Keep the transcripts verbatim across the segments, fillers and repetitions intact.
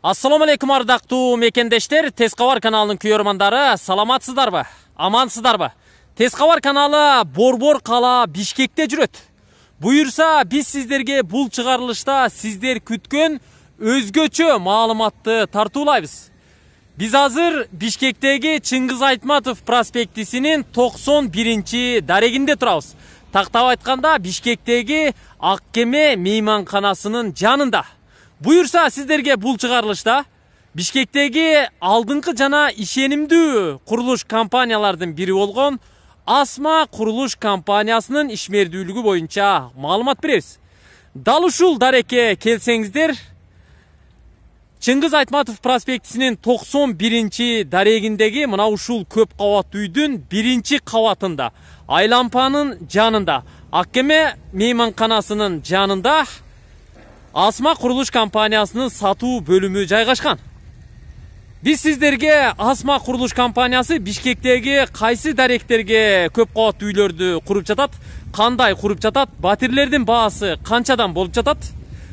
Ассаламу алейкум ардактуу мекендештер, Тез кабар каналынын күйөрмандары, саламатсыздарбы? Амансыздарбы? Тез кабар каналы Борбор кала Бишкекте жүрөт. Буюрса, биз сиздерге бул чыгарылышта сиздер күткөн өзгөчө маалыматты тартуулайбыз. Биз азыр Бишкектеги Чыңгыз Айтматов проспектисинин токсон биринчи дарегинде турабыз. Тактап айтканда, Бишкектеги Ак Кеме мейманканасынын жанында. Буюрса, сиздерге бул чыгарылышта Бишкектеги алдыңкы жана ишенимдүү курулуш компаниялардын бири болгон Асма курулуш компаниясынын ишмердүүлүгү боюнча маалымат беребиз. Дал ушул дарекке келсеңиздер, Чыңгыз Айтматов проспектисинин токсон биринчи дарегиндеги мына ушул көп кабаттуу үйдүн биринчи кабатында, Айлампанын жанында, Ак Кеме мейманканасынын жанында Асма курулуш компаниясынын сатуу бөлүмү жайгашкан. Биз сиздерге Асма курулуш компаниясы Бишкектеги кайсы даректерге көп кабаттуу үйлөрдү куруп жатат, кандай куруп жатат, батирлердин баасы канчадан болуп жатат,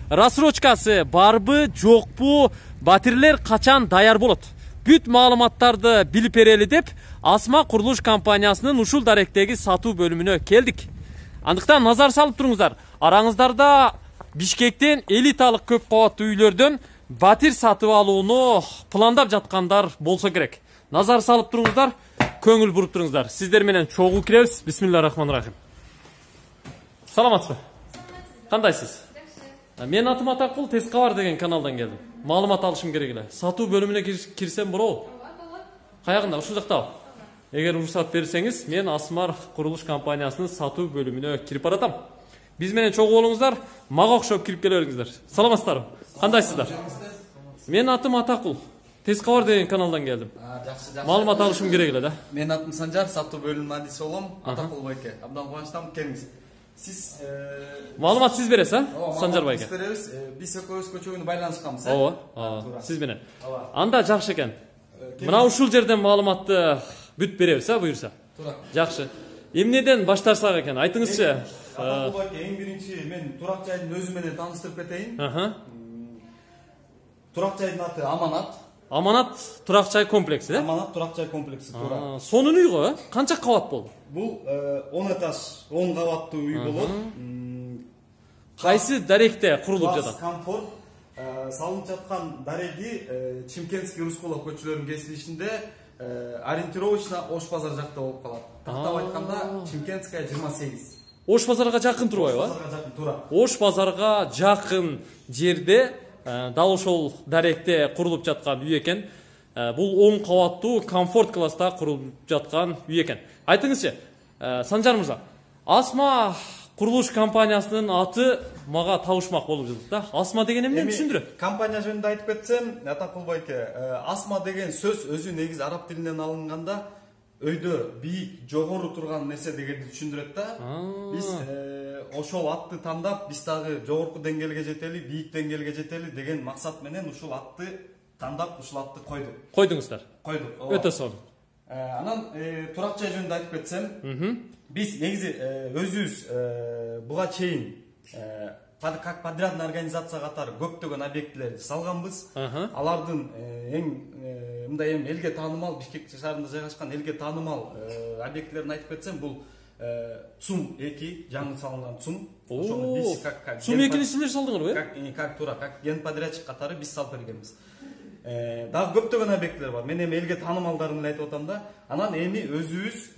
рассрочкасы барбы, жокпу, батирлер качан даяр болот, бүт маалыматтарды билип берели деп Асма курулуш компаниясынын ушул даректеги сатуу бөлүмүнө келдик. Андыктан назар салып туруңуздар, араңыздарда Бишкектен элиталык көп кабаттуу үйлөрдөн батир сатып алууну пландап жаткандар болсо керек. Назар салып туруңуздар, көңүл буруп туруңуздар. Сиздер менен чогуу киребиз. Бисмиллахиррахманиррахим. Саламатсызбы? Кандайсыз? Мен атым Атакул, Тез кабар деген каналдан келдим. Маалымат алышым керек эле. Сатуу бөлүмүнө кирсем болобу? Каягында, ушул жактабы? Эгер уруксат берсеңиз, мен Асмар курулуш компаниясынын сатуу бөлүмүнө кирип баратам. Биз менен чогуу болуңуздар, мага окшоп кирип келе бериңиздер. Саламатсыздарбы? Кандайсыздар? Мен атым Атакул, Тез кабар деген каналдан келдим. Жакшы, жакшы. Маалымат алышым керек эле да. Мен атым Санжар, сатуу бөлүмүнүн адиси болом. Атакул байке. Абдан кубанычтамын, келиңиз. Сиз маалымат сиз бересиз, а? Санжар байке. Биз беребиз. Биз экөөбүз көчөгүнө байланышканбыз, э? Ооба, сиз менен. Анда жакшы экен. Мына ушул жерден маалыматты бүт беребиз, а, буюрса. Туура. Жакшы. Эмнеден баштарсак экен? Айтыңызчы. Атакул байке, эң биринчи мен турак жайдын өзү менен тааныштырып кетейин. Аха. Турак жайдын аты Аманат. Аманат турак жай комплекси, э? Аманат турак жай комплекси, туура. Сонун үй го, э? Канча кабат болду? Бул он этаж, он кабаттуу үй болот. Кайсы даректе курулуп жатат? Комфорт салынып жаткан дареги Чимкентский Рускулов көчөлөрүнүн кесилишинде ориентировочно Ош базар жакта болуп калат. Тактап айтканда Чимкентская жыйырма сегиз. Ош базарга жакын турбайбы? Ош базарга жакын, туура. Ош базарга жакын жерде дал ошол даректе курулуп жаткан үй экен. Бул он кабаттуу комфорт класста курулуп жаткан үй экен. Айтыңызчы, Санжар мырза, Асма курулуш компаниясынын аты мага табышмак болуп жатат да. Асма деген эмнени түшүндүрөт? Компания жөнүндө айтып кетсем, Атакул байке, Асма деген сөз өзү негизи араб тилинен алынганда өйдө бийик, жогору турган нерсе дегенди түшүндүрөт да. Биз ошол атты тандап, биз дагы жогорку деңгээлге жетели, бийик деңгээлге жетели деген максат менен ушул атты тандап, ушул атты койдук. Койдуңуздар. Койдук. Өтө сонун. Анан турак жай жөнүндө айтып кетсем, биз негизи өзүбүз буга чейин как подрядный организация катары көптөгөн объектилерди салганбыз. Алардын эң мындай эми элге таанымал, Бишкек шаарында жайгашкан элге таанымал объектилерин айтып кетсем, бул ЦУМ эки, жаңы салынган ЦУМ. Ошону биз как ЦУМ экини сиздер салдыңарбы? Как как туура, как генподрядчик катары биз салып бергенбиз. Дагы көптөгөн объектилер бар. Мен эми элге таанымалдарын эле айтып атам да. Анан эми өзүбүз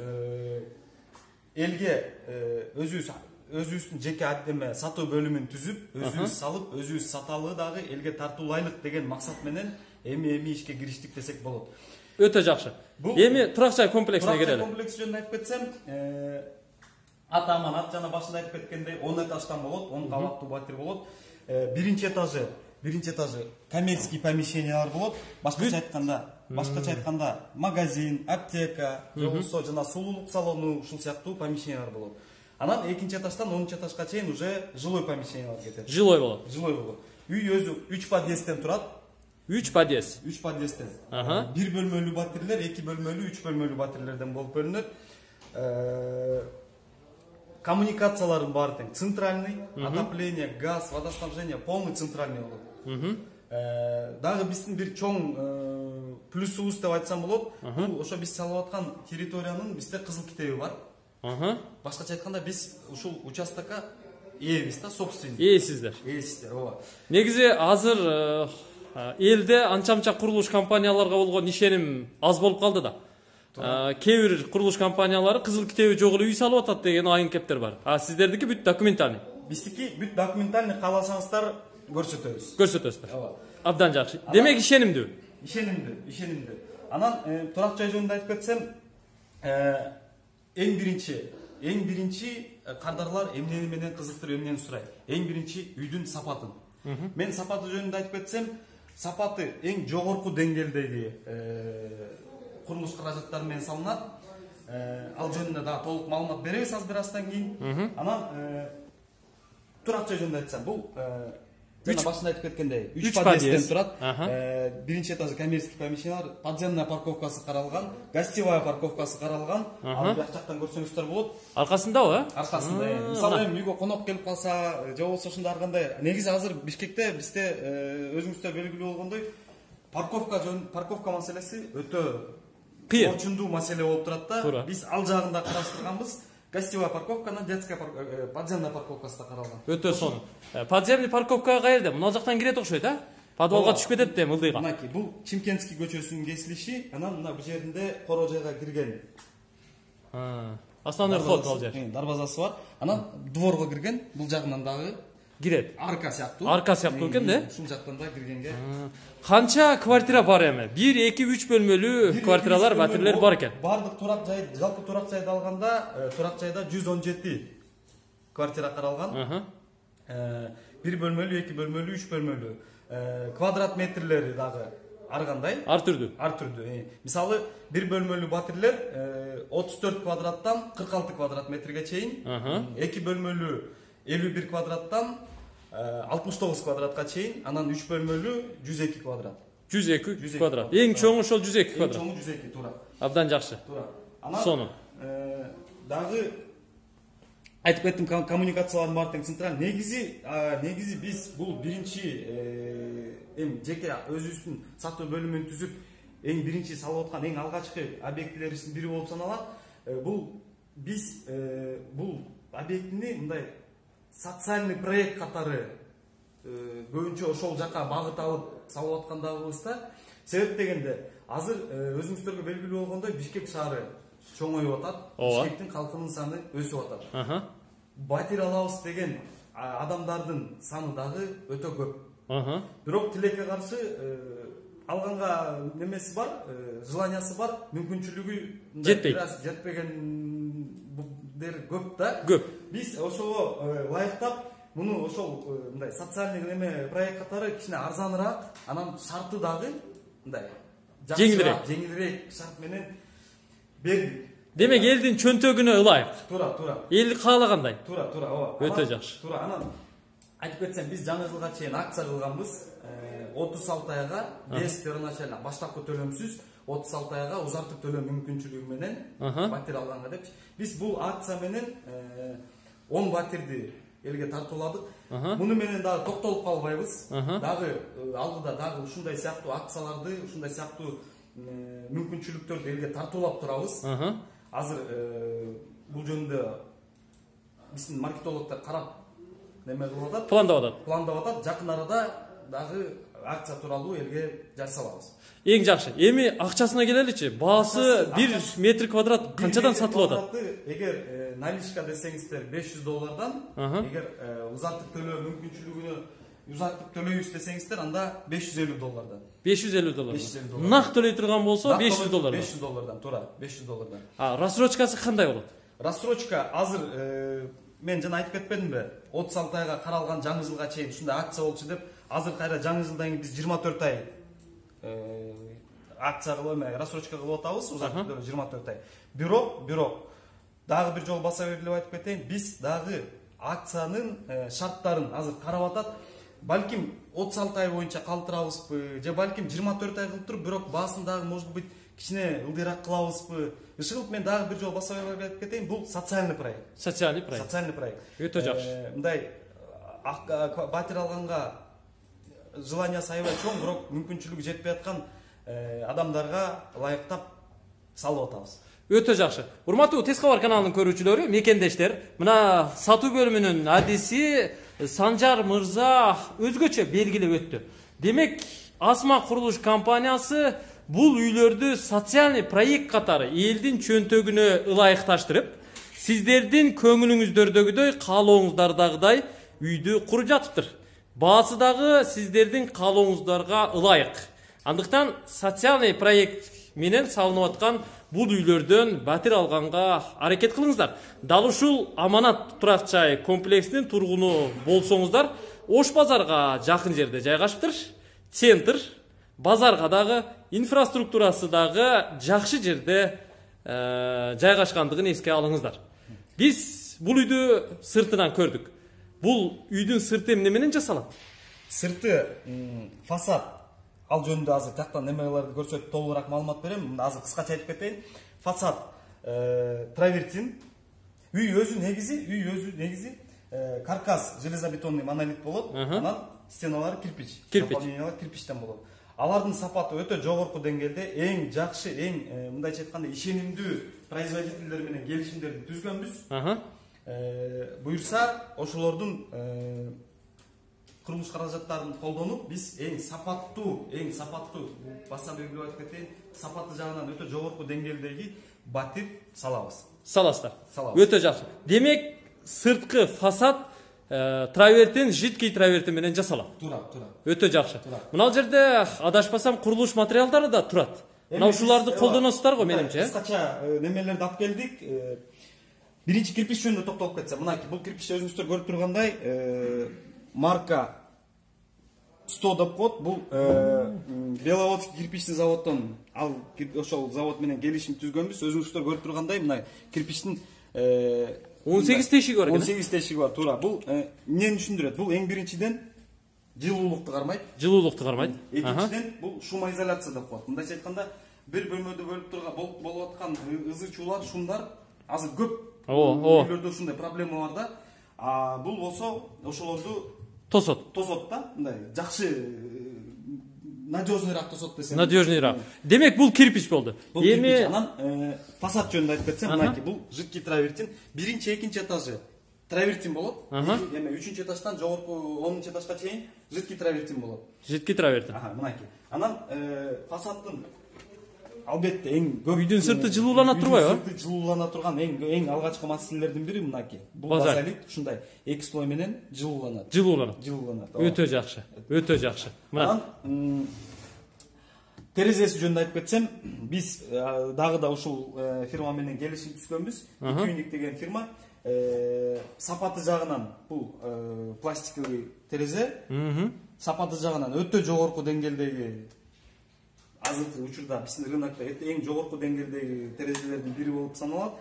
элге өзүбүз өзүбүздүн жеке эме сатуу бөлүмүн түзүп, өзүбүз салып, өзүбүз саталы дагы элге тартуулайлык деген максат менен эми эми ишке кириштик десек болот. Өтө жакшы. Эми турак жай комплексине келели. Турак жай комплекси жөнүндө айтып кетсем, аты Аманат, жана башында айтып кеткендей он этаждан болот, он кабаттуу батир болот. Биринчи этажы, биринчи этажы коммерческий помещениялар болот. Башкача айтканда, башкача айтканда магазин, аптека, жобосо жана сулуулук салону ушул сыяктуу помещениялар болот. Анан экинчи этаждан онунчу этажга чейин уже жилой помещениялар кетет. Жилой болот. Жилой болот. Үй өзү үч подъездден турат. үч подъезд. үч подъездден. бир бөлмөлүү батирлер, эки бөлмөлүү, үч бөлмөлүү батирлерден болуп бөлүнөт. Коммуникацияларын баары тең. Центральный, отопление, газ, водоснабжение полный центральный болот. Дагы биздин бир чоң плюсубуз деп айтсам болот. Бул ошо биз салып аткан территориянын бизде кызыл китеби бар. Башкача айтканда биз ушул участокко ээбиз да, собственник. Ээсиздер. Ээсиздер, ооба. Негизи азыр элде анча-мынча курулуш компанияларга болгон ишеним аз болуп калды да. Кээ бир курулуш компаниялары кызыл китеби жок эле үй салып атат деген айын кептер бар. А сиздердики бүт документальный. Биздики бүт документальный, кааласаңыздар көрсөтөбүз. Көрсөтөсүздөр. Ооба. Абдан жакшы. Демек ишенимдүү. Ишенимдүү, ишенимдүү. Анан турак жай жөнүндө айтып кетсем, эң биринчи, эң биринчи кардарлар эмнени менен кызыктырып, эмнени сурайт? Эң биринчи үйдүн сапатын. Мен сапаты жөнүндө айтып кетсем, сапаты эң жогорку деңгээлдеги курулуш каражаттары менен салынат. Ал жөнүндө дагы толук маалымат беребиз аз бир аздан кийин. Анан турак жай жөнүндө айтсам, бул жана башында айтып кеткендей, үч подъездден турат. Биринчи этажы коммерческий помещениялар, подземная парковкасы каралган, гостевая парковкасы каралган. Ал жак жактан көрсөңүздөр болот. Аркасындабы, э? Аркасында. Мисалы эми үйгө конок келип калса, же болбосо ошондой ар кандай. Негизи азыр Бишкекте бизде өзүңүздөр белгилүү болгондой, парковка жөн парковка маселеси өтө кыйын, орчундуу маселе болуп турат да. Биз ал жагын да караштырганбыз. Гостевая парковканы, детская подземная парковкасы да каралган. Өтө сонун. Подземный парковка каерде? Мына жактан кирет окшойт, а? Подвалга түшүп кетет да, ылдыйга. Мынакей, бул Чимкентский көчөсүнүн кесилиши, анан мына бу жеринде коро жайга кирген. Основной вход ал жер. Дарбазасы бар. Анан дворго кирген, бул жагынан дагы кирет. Арка сыяктуу. Арка сыяктуу экен да? Ушул жактан да киргенге. Канча квартира бар эми? бир, эки, үч бөлмөлүү квартиралар, батирлер бар экен. Бардык турак жай, жалпы турак жайды алганда, турак жайда жүз он жети квартира каралган. бир бөлмөлүү, эки бөлмөлүү, үч бөлмөлүү. Квадрат метрлери дагы ар кандай? Ар түрдүү. Ар түрдүү. Мисалы, бир бөлмөлүү батирлер отуз төрт квадраттан кырк алты квадрат метрге чейин, эки бөлмөлүү элүү бир квадраттан алтымыш тогуз квадратка чейин, анан үч бөлмөлүү жүз эки квадрат. жүз эки квадрат. Эң чоңу ошол жүз эки квадрат. Эң чоңу жүз эки, туура. Абдан жакшы. Туура. Анан сонун. Дагы айтып кеттим, коммуникациялардын баары тең централь. Негизи, негизи биз бул биринчи эм жеке өзүбүздүн сатуу бөлүмүн түзүп, эң биринчи салып аткан эң алгачкы объектилерибиздин бири болуп саналат. Бул биз бул объектини мындай социальный проект катары көбүнчө ошол жака багыт алып салып аткандагыбыз да. Себеп дегенде, азыр өзүңүздөргө белгилүү болгондой Бишкек шаары чоңоюп атат. Бишкектин калкынын саны өсүп атат. Батир алабыз деген адамдардын саны дагы өтө көп. Бирок тилекке каршы алганга немеси бар, желаниясы бар, мүмкүнчүлүгү жетпейт. Жетпегендер көп да. Көп. Биз ошого лайыктап, муну ошол мындай социальный неме проект катары кичине арзаныраак, анан шарты дагы мындай жеңилирээк, жеңилирээк шарт менен бердик. Демек элдин чөнтөгүнө ылайык. Туура, туура. Эл каалагандай. Туура, туура, ооба. Өтө жакшы. Туура, анан айтып кетсем, биз жаңы жылга чейин акция кылганбыз. отуз алты айга без первоначально баштапкы төлөмсүз отуз алты айга узартып төлөө мүмкүнчүлүгү менен батир алганга деп. Биз бул акция менен он батирди элге тартууладык. Муну менен дагы токтолуп калбайбыз. Дагы алдыда дагы ушундай сыяктуу акцияларды, ушундай сыяктуу мүмкүнчүлүктөрдү элге тартуулап турабыз. Азыр бул жөнүндө биздин маркетологдор карап неме кылып атат, пландап атат. Пландап атат. Жакын арада дагы акция тууралуу элге жарсалабыз. Эң жакшы. Эми акчасына келеличи. Баасы бир метр квадрат канчадан сатылып атат? Эгер наличка десеңиздер беш жүз доллардан, эгер узартып төлөө мүмкүнчүлүгүнө узартып төлөйбүз десеңиздер, анда беш жүз элүү доллардан. беш жүз элүү доллардан. Нак төлөй турган болсо беш жүз доллардан. беш жүз доллардан, туура, беш жүз доллардан. А рассрочкасы кандай болот? Рассрочка азыр мен жана айтып кетпедимби? отуз алты айга каралган жаңы жылга чейин ушундай акция болчу деп, азыр кайра жаңы жылдан кийин биз жыйырма төрт ай акция кылып эме рассрочка кылып атабыз, узартып төлөө жыйырма төрт ай. Бирок, бирок дагы бир жолу баса берилип айтып кетейин, биз дагы акциянын шарттарын азыр карап атат. Балким отуз алты ай боюнча калтырабызбы, же балким жыйырма төрт ай кылып туруп, бирок баасын дагы может быть кичине ылдыйраак кылабызбы. Иши кылып мен дагы бир жолу баса берип айтып кетейин, бул социальный проект. Социальный проект. Социальный проект. Өтө жакшы. Мындай батир алганга желаниясы аябай чоң, бирок мүмкүнчүлүгү жетпей аткан адамдарга ылайыктап салып атабыз. Өтө жакшы. Урматтуу Тез кабар каналынын көрүүчүлөрү, мекендештер, мына сатуу бөлүмүнүн адиси Санжар мырза өзгөчө белгилеп өттү. Демек, Асма курулуш компаниясы бул үйлөрдү социальный проект катары элдин чөнтөгүнө ылайыкташтырып, сиздердин көңүлүңүздөрдөгүдөй, каалооңуздардагыдай үйдү куруп жатыптыр. Баасы дагы сиздердин каалооңуздарга ылайык. Андыктан социальный проект менен салынып аткан бул үйлөрдөн батир алганга аракет кылыңыздар. Дал ушул Аманат турак жай комплексинин тургуну болсоңуздар, Ош базарга жакын жерде жайгашыптыр. Центр, базарга дагы, инфраструктурасы дагы жакшы жерде жайгашкандыгын эске алыңыздар. Биз бул үйдү сыртынан көрдүк. Бул үйдүн сырты эмне менен жасалат? Сырты фасад. Ал жөнүндө азыр тактан немелерди көрсөтүп толугураак маалымат берем. Азыр кыскача айтып кетейин. Фасад травертин. Үй өзү негизи, үй өзү негизи каркас железобетонный монолит болот. Анан стеналары кирпич. Наполнениялар кирпичтен болот. Алардын сапаты өтө жогорку деңгээлде, эң жакшы, эң мындайча айтканда ишенимдүү производительдер менен келишимдерди түзгөнбүз. Буюрса, ошолордун курулуш каражаттарын колдонуп, биз эң сапаттуу, эң сапаттуу, баса белгилеп айтып кетейин, сапаты жагынан өтө жогорку деңгээлдеги батир салабыз. Саласыздар. Өтө жакшы. Демек, сырткы фасад травертин, жидкий травертин менен жасалат. Туура, туура. Өтө жакшы. Мына жерде адашпасам курулуш материалдары да турат. Мына ушуларды колдоносуздар го менимче. Кыскача немелерди алып келдик. Биринчи кирпич жөнүндө токтолуп кетсем, мынакей бул кирпичти өзүңүздөр көрүп тургандай, марка сто деп коет. Бул Беловодский кирпичный заводдон, ал ошол завод менен келишим түзгөнбүз. Өзүңүздөр көрүп тургандай, мына кирпичтин он сегиз тешиги бар экен. он сегиз тешиги бар, туура. Бул эмнени түшүндүрөт? Бул эң биринчиден жылуулукту кармайт. Жылуулукту кармайт. Экинчиден бул шумоизоляция деп коет. Мындайча айтканда, бир бөлмөдө бөлүп турган болуп аткан ызы чуулар, шумдар азыр көп. Үйлөрдө ушундай проблема бар да. А бул болсо ошолорду тосот. Тосот да, мындай жакшы надежныйраак тосот десем. Надежныйраак. Демек бул кирпич болду. Эми анан фасад жөнүндө айтып кетсем, мынакей бул жидкий травертин биринчи, экинчи этажы травертин болот. Эми үчүнчү этаждан жогорку онунчу этажга чейин жидкий травертин болот. Жидкий травертин. Аха, мынакей. Анан фасаддын албетте эң көп үйдүн сырты жылуулана турбайбы? Сырты жылуулана турган эң эң алгачкы маселелердин бири мынакей. Бул базалит ушундай эки слой менен жылууланат. Жылууланат. Жылууланат. Өтө жакшы. Өтө жакшы. Мына терезеси жөнүндө айтып кетсем, биз дагы да ушул фирма менен келишим түзгөнбүз. Түйүник деген фирма. Сапаты жагынан бул пластиковый терезе. Сапаты жагынан өтө жогорку деңгээлдеги, азыркы учурда биздин рынокто эң жогорку деңгээлдеги терезелердин бири болуп саналат.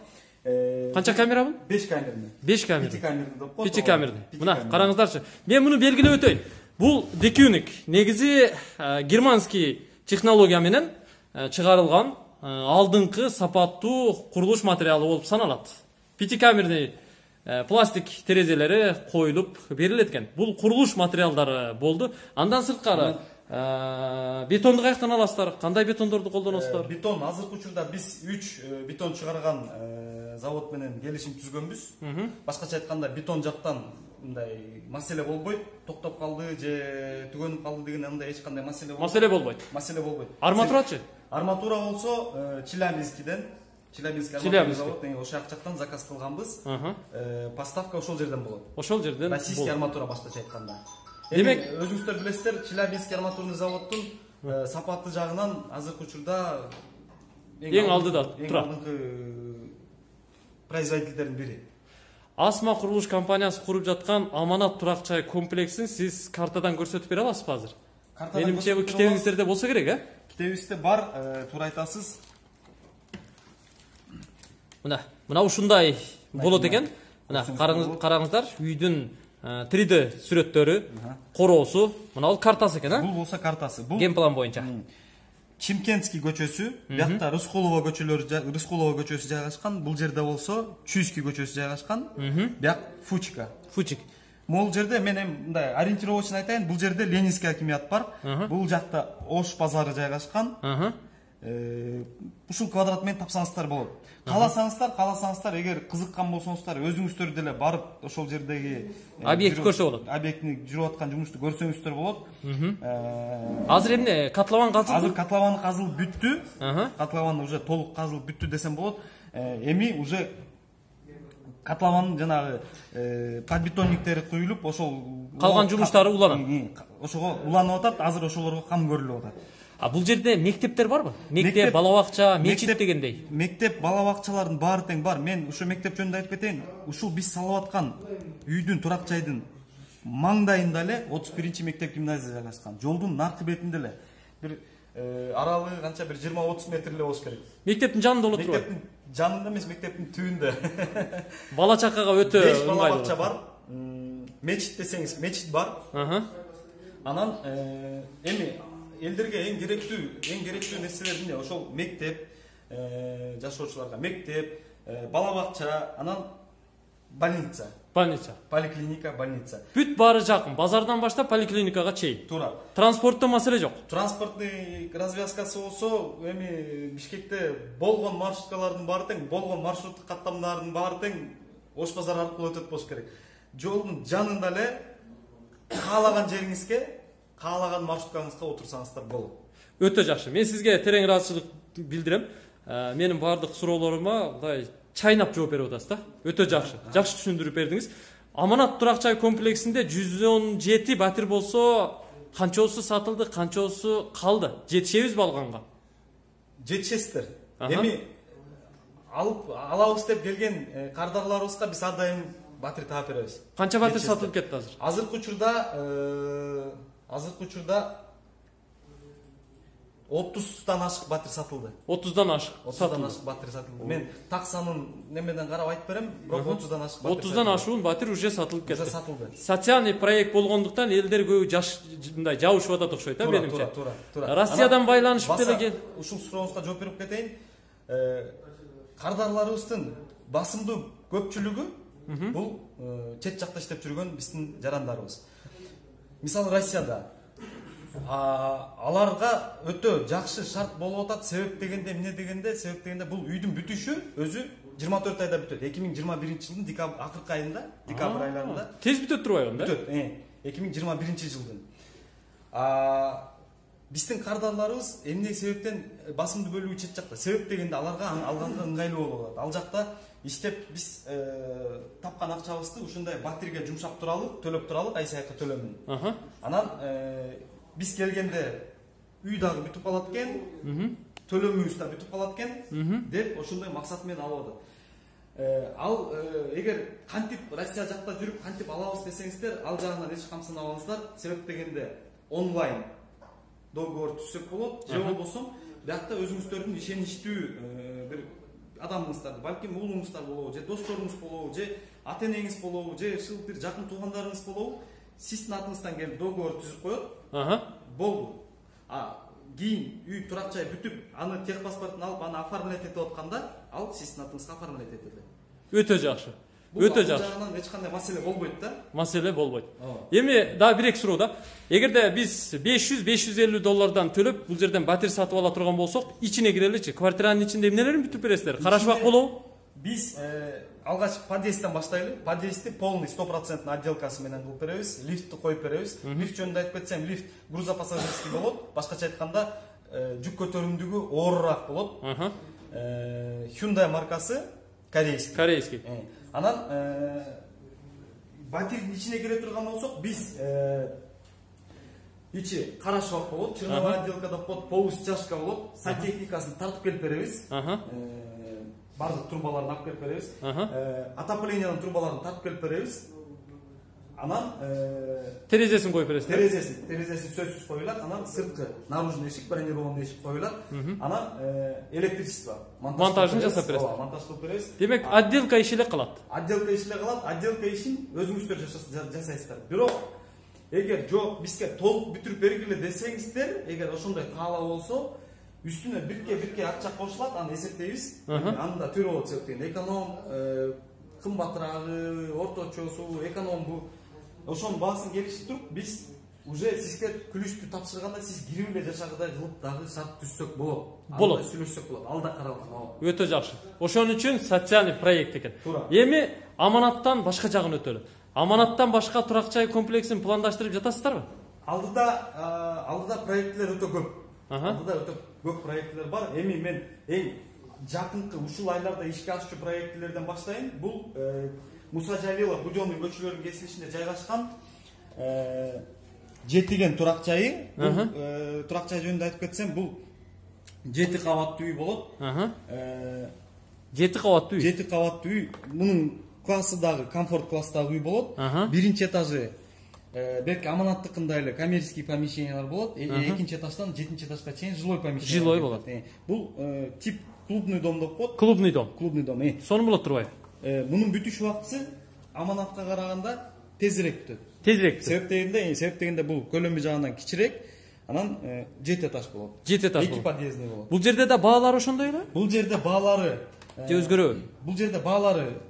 Канча камера бул? беш камерный. беш камерный. пяти камерный деп коет. пяти камерный. Мына караңыздарчы. Мен муну белгилеп өтөйүн. Бул декюник. Негизи германский технология менен чыгарылган алдыңкы сапаттуу курулуш материалы болуп саналат. Пятикамерный пластик терезелери коюлуп берилет экен. Бул курулуш материалдары болду. Андан сырткары бетонду каяктан аласыздар? Кандай бетондорду колдоносуздар? Бетон азыркы учурда биз үч бетон чыгарган завод менен келишим түзгөнбүз. Башкача айтканда бетон жактан мындай маселе болбойт. Токтоп калды же түгөнүп калды деген андай эч кандай маселе болбойт. Маселе болбойт. Маселе болбойт. Арматурачы? Арматура болсо Челябинскиден, Челябинский арматура завод деген ошол жактан заказ кылганбыз. Поставка ошол жерден болот. Ошол жерден. Российский арматура башкача айтканда. Демек, өзүңүздөр билесиздер, Челябинский арматурный заводдун сапаты жагынан азыркы учурда эң алдыда турат. Алдыңкы производительдердин бири. Асма курулуш компаниясы куруп жаткан Аманат турак жай комплексин сиз картадан көрсөтүп бере аласызбы азыр? Менимче бул китебиңиздерде болсо керек, э? Китебибизде бар, туура айтасыз. Мына, мына ушундай болот экен. Мына караңыздар, үйдүн три дэ сүрөттөрү, короосу, мына ал картасы экен, а? Бул болсо картасы. Бул генплан боюнча. Чимкентский көчөсү, биякта Рыскулова көчөлөрү, Рыскулова көчөсү жайгашкан. Бул жерде болсо Чуйский көчөсү жайгашкан. Бияк Фучика. Фучик. Могул жерде мен эми мындай ориентировочно айтайын, бул жерде Ленинский акимият бар. Бул жакта Ош базары жайгашкан. Ушул квадрат менен тапсаңыздар болот. Кааласаңыздар, кааласаңыздар, эгер кызыккан болсоңуздар, өзүңүздөр деле барып ошол жердеги объект көрсө болот. Объектни жүрүп аткан жумушту көрсөңүздөр болот. Азыр эмне котлован казылды? Азыр котлован казылып бүттү. Котлован уже толук казылып бүттү десем болот. Эми уже котлованын жанагы подбетонниктери куюлуп, ошол калган жумуштары уланат. Ошого уланып атат, азыр ошолорго кам көрүлүп атат. А бул жерде мектептер барбы? Мектеп, бала бакча, мечит дегендей. Мектеп, бала бакчалардын баары тең бар. Мен ушул мектеп жөнүндө айтып кетейин. Ушул биз салып аткан үйдүн, турак жайдын маңдайында эле отуз биринчи мектеп гимназия жайгашкан. Жолдун наркы бетинде эле. Бир аралыгы канча, бир жыйырма отуз метр эле болуш керек. Мектептин жанында болот турбайбы? Мектептин жанында эмес, мектептин түбүндө. Бала чакага өтө беш бала бакча бар. Мечит десеңиз, мечит бар. Анан эми элдерге эң керектүү, эң керектүү нерселер эмне? Ошол мектеп, жашоочуларга мектеп, бала бакча, анан больница. Больница. Поликлиника, больница. Бүт баары жакын, базардан баштап поликлиникага чейин. Туура. Транспортто маселе жок. Транспортный развязкасы болсо, эми Бишкекте болгон маршруткалардын баары тең, болгон маршруттук каттамдардын баары тең Ош базары аркылуу өтөт болуш керек. Жолдун жанында эле каалаган жериңизге, каалаган маршруткаңызга отурсаңыздар болот. Өтө жакшы. Мен сизге терең ыраазычылык билдирем. Менин баардык суроолорума мындай чайнап жооп берип атасыз да. Өтө жакшы. Жакшы түшүндүрүп бердиңиз. Аманат турак жай комплексинде жүз он жети батир болсо, канчоосу сатылды, канчоосу калды? Жетишебизби алганга? Жетишесиздер. Эми алып алабыз деп келген кардарларыбызга биз ар дайым батир таап беребиз. Канча батир сатылып кетти азыр? Азыркы учурда азыркы учурда отуздан ашык батир сатылды. отуздан ашык отуздан ашык батир сатылды. Мен таксанын немеден карап айтып берем, бирок отуздан ашык батир. отуздан ашуун батир уже сатылып кетти. Уже сатылды. Социальный проект болгондуктан элдер көбү жаш мындай жабышып атат окшойт да, менимче. Туура, туура, туура. Россиядан байланышып деле ушул сурооңузга жооп берип кетейин. Кардарларыбыздын басымдуу көпчүлүгү бул чет жакта иштеп жүргөн биздин жарандарыбыз. Мисалы Россияда аларга өтө жакшы шарт болуп атат. Себеп дегенде эмне дегенде, себеп дегенде бул үйдүн бүтүшү өзү жыйырма төрт айда бүтөт. эки миң жыйырма биринчи жылдын декабрь акыркы айында, декабрь айларында тез бүтөт турбайбы да? Бүтөт. эки миң жыйырма биринчи жылдын. Биздин кардарларыбыз эмне себептен басымдуу бөлүгү чет жакта? Себеп дегенде аларга алганга ыңгайлуу болуп атат. Ал жакта иштеп биз тапкан акчабызды ушундай батирге жумшап туралы, төлөп туралы, ай сайкы төлөмүн. Анан биз келгенде үй дагы бүтүп калат экен, төлөмүбүз да бүтүп калат экен деп ошондой максат менен алып атат. Ал эгер кантип Россия жакта жүрүп кантип алабыз десеңиздер, ал жагынан эч камсынабаңыздар. Себеп дегенде онлайн договор түзсөк болот, же болбосо биякта өзүңүздөрдүн ишеничтүү бир адамыңыздар, балким уулуңуздар болобу, же досторуңуз болобу, же ата энеңиз болобу, же ушул бир жакын туугандарыңыз болобу, сиздин атыңыздан келип договор түзүп коет. Болду. А кийин үй турак жай бүтүп, аны техпаспортун алып, аны оформлять этип атканда, ал сиздин атыңызга оформлять этилет. Өтө жакшы. Өтө жакшы. Бул жагынан эч кандай маселе болбойт да. Маселе болбойт. Эми дагы бир эки суроо да. Эгерде биз беш жүз беш жүз элүү доллардан төлөп бул жерден батир сатып ала турган болсок, ичине киреличи. Квартиранын ичинде эмнелерин бүтүп бересиздер? Карашбак болобу? Биз алгач подъездден баштайлы. Подъездди полный сто процент отделкасы менен кылып беребиз. Лифтти коюп беребиз. Лифт жөнүндө айтып кетсем, лифт грузопассажирский болот. Башкача айтканда, жүк көтөрүмдүгү оорураак болот. Hyundai маркасы, корейский. Корейский. Анан батирдин ичине кире турган болсок, биз ичи карашбак болот, черновая отделкада под полустяжка болот, сантехникасын тартып келип беребиз. Бардык трубаларын алып келип беребиз. Отоплениянын трубаларын тартып келип беребиз. Анан терезесин коюп бересиз. Терезесин, терезесин сөзсүз коюлат. Анан сырткы наружный эшик, бронированный эшик коюлат. Анан электричество, монтажын жасап бересиз. Ооба, монтаж кылып беребиз. Демек, отделка иши эле калат. Отделка иши эле калат. Отделка ишин өзүңүздөр жасайсыздар. Бирок эгер жок, бизге толук бүтүрүп бергиле десеңиздер, эгер ошондой каалоо болсо, үстүнө бирке-бирке акча кошулат, аны эсептейбиз. Анда түрү болот, эконом, кымбатыраагы, орточосу, эконом бу ошонун баасын келишип туруп биз уже сизге күлүштү тапшырганда сиз кирип эле жашагыдай кылып дагы шарт түзсөк болот. Болот. Сүйлөшсөк болот. Алда каралган. Өтө жакшы. Ошон үчүн социалдык проект экен. Эми аманаттан башка жагын өтөлү. Аманаттан башка турак жай комплексин пландаштырып жатасыздарбы? Алдыда алдыда проекттер өтө көп. Алдыда өтө көп проекттер бар. Эми мен эң жакынкы ушул айларда ишке ашчу проектлерден баштайын. Бул Муса Жалилов Будённый көчөлөрүнүн кесилишинде жайгашкан жетиген турак жайы. Турак жай жөнүндө айтып кетсем, бул жети кабаттуу үй болот. жети кабаттуу үй. жети кабаттуу үй. Мунун классы дагы комфорт класстагы үй болот. Биринчи этажы белки аманаттыкындай эле коммерческий помещениялар болот. Экинчи этаждан жетинчи этажга чейин жилой помещение. Жилой болот. Бул тип клубный дом деп коет. Клубный дом. Клубный дом. Сонун болот турбайбы? Мунун бүтүш убактысы аманатка караганда тезирээк бүтөт. Тезирээк. Себеп дегенде, себеп дегенде бул көлөмү жагынан кичирээк, анан жети этаж болот. жети этаж болот. эки подъездный болот. Бул жерде да баалары ошондой эле? Бул жерде баалары же өзгөрөбү? Бул жерде баалары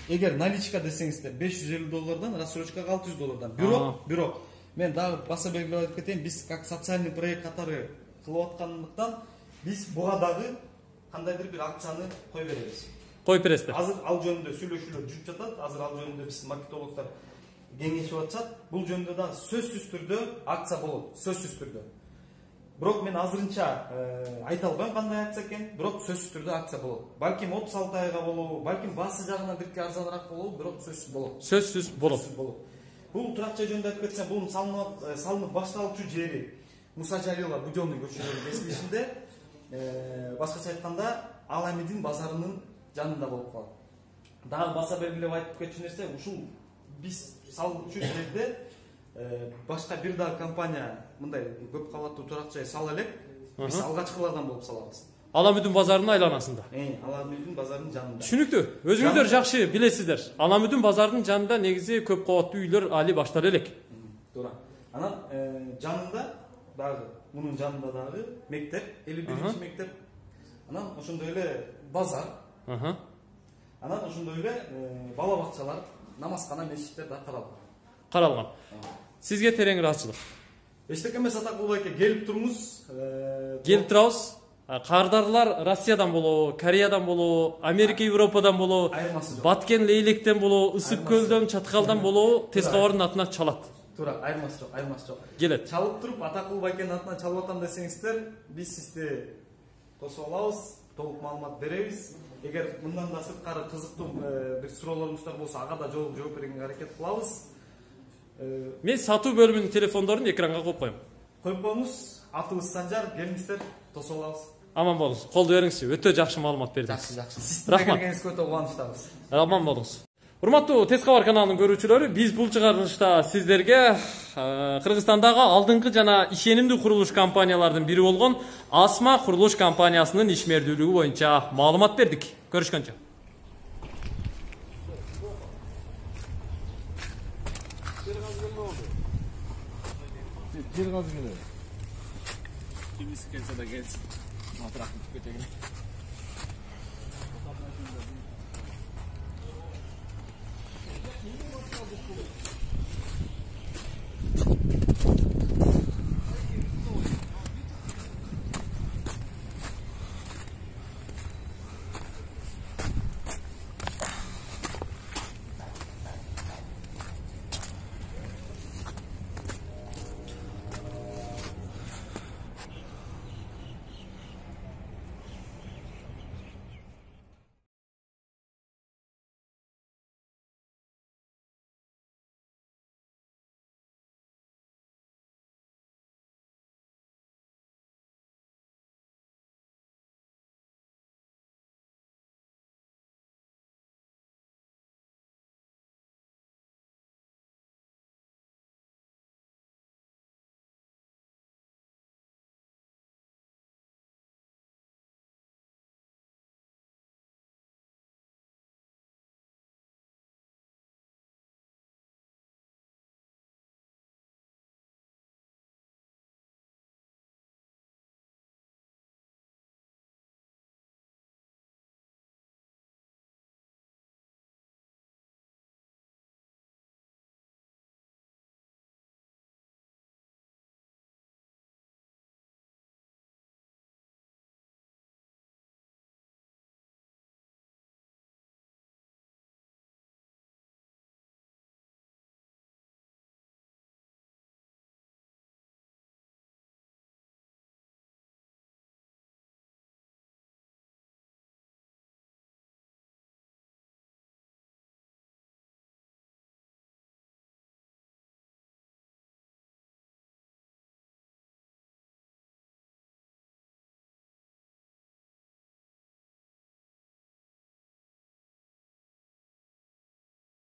эгер наличка десеңиздер беш жүз элүү доллардан, рассрочкага алты жүз доллардан. Бирок, бирок мен дагы баса белгилеп айтып кетейин, биз как социальный проект катары кылып аткандыктан биз буга дагы кандайдыр бир акцияны кое беребиз. Коюп бересиздер. Азыр ал жөнүндө сүйлөшүүлөр жүрүп жатат. Азыр ал жөнүндө биз маркетологдор кеңешип атышат. Бул жөнүндө да сөзсүз түрдө акция болот, сөзсүз түрдө. Бирок мен азырынча айта албайм кандай акция экен, бирок сөзсүз түрдө акция болот. Балким отуз алты айга болобу, балким баасы жагынан бирке арзаныраак болобу, бирок сөзсүз болот. Сөзсүз болот. Бул турак жай жөнүндө айтып кетсем, бул салынып салынып башталчу жери Муса Жалилов Будённый көчөлөрүнүн кесилишинде, башкача айтканда Аламидин базарынын жанында болуп калат. Дагы баса белгилеп айтып кетчү нерсе, ушул биз салчу жерде башка бир дагы компания мындай көп кабаттуу турак жай сала элек, биз алгачкылардан болуп салабыз. Аламүдүн базарынын айланасында. Э, Аламүдүн базарынын жанында. Түшүнүктүү. Өзүңүздөр жакшы билесиздер. Аламүдүн базарынын жанында негизи көп кабаттуу үйлөр али баштала элек. Туура. Анан жанында дагы, мунун жанында дагы мектеп, элүү биринчи мектеп. Анан ошондой эле базар. Анан ошондой эле бала бакчалар, намазкана, мечиттер да каралган. Каралган. Сизге терең ыраазычылык. Эчтеке эмес Атакул байке, келип туруңуз. Келип турабыз. Кардарлар Россиядан болобу, Кореядан болобу, Америка, Европадан болобу, Баткен, Лейлектен болобу, Ысык көлдөн, Чаткалдан болобу, тез кабардын атынан чалат. Туура, айырмасы жок, айырмасы жок. Келет. Чалып туруп Атакул байкенин атынан чалып атам десеңиздер, биз сизди тосуп алабыз, толук маалымат беребиз. Эгер мындан да сырткары кызыктуу бир суроолоруңуздар болсо, ага да жооп берүүгө аракет кылабыз. Мен сатуу бөлүмүнүн телефондорун экранга коюп коем. Коюп коюңуз. Атыбыз Санжар, келиңиздер, тосуп алабыз. Аман болуңуз. Колду бериңизчи. Өтө жакшы маалымат бердиңиз. Жакшы, жакшы. Сиздин келгениңизге өтө кубанычтабыз. Аман болуңуз. Урматтуу Тез кабар каналынын көрүүчүлөрү, биз бул чыгарылышта сиздерге Кыргызстандагы алдыңкы жана ишенимдүү курулуш компаниялардын бири болгон Асма курулуш компаниясынын ишмердүүлүгү боюнча маалымат бердик. Көрүшкөнчө. Жер газы келе. Kimisi gelse de gelsin. Matraklık kötü.